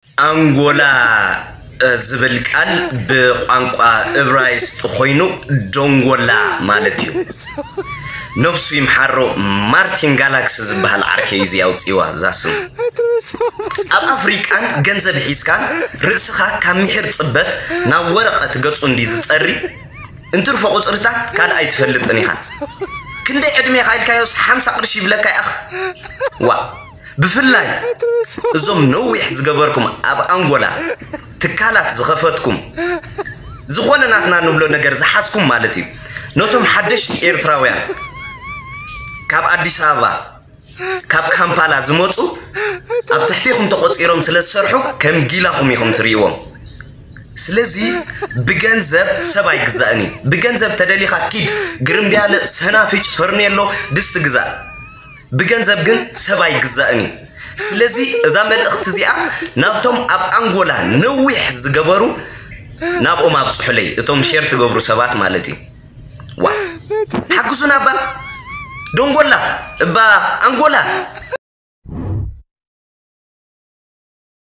ኣንጎላ ዝብል ቃል ብቋንቋ እብራይስጥ ኮይኑ ዶንጎላ ማለት እዩ። ነፍሱ ይምሓሮ ማርቲን ጋላክስ ዝበሃል ዓርከይ እዩ ኣውፂዋ እዛ ስም። ኣብ ኣፍሪቃን ገንዘብ ሒዝካን ርእስኻ ካብ ምሒር ፅበት ናብ ወረቐት ገፁ እንዲ ዝፀሪ እንትርፎ ቁፅርታት ካልእ ኣይትፈልጥን ኢኻ። ክንደይ ዕድሜኻ ኢልካዮስ ሓምሳ ቅርሺ ይብለካ ይኣኽ ዋ። ብፍላይ እዞም ነዊሕ ዝገበርኩም ኣብ ኣንጎላ ትካላት ዝኸፈትኩም ዝኾነ ናትና ንብሎ ነገር ዝሓዝኩም ማለት እዩ። ነቶም ሓደሽቲ ኤርትራውያን ካብ ኣዲስ ኣበባ ካብ ካምፓላ ዝመፁ ኣብ ትሕቴኹም ተቆፂሮም ስለ ዝሰርሑ ከም ጊላኹም ኢኹም ትርእይዎም። ስለዚ ብገንዘብ ሰብ ኣይግዛእን እዩ። ብገንዘብ ተደሊኻ ኪድ ግርምብያለ ሰናፍጭ ፈርኔሎ ድስቲ ግዛእ። ብገንዘብ ግን ሰብ ኣይግዛእን እዩ። ስለዚ እዛ መልእኽቲ እዚኣ ናብቶም ኣብ ኣንጎላ ነዊሕ ዝገበሩ ናብኦም ኣብፅሑለይ፣ እቶም ሼር ትገብሩ ሰባት ማለት እዩ። ዋ ሓግዙና እባ ዶንጎላ እባ ኣንጎላ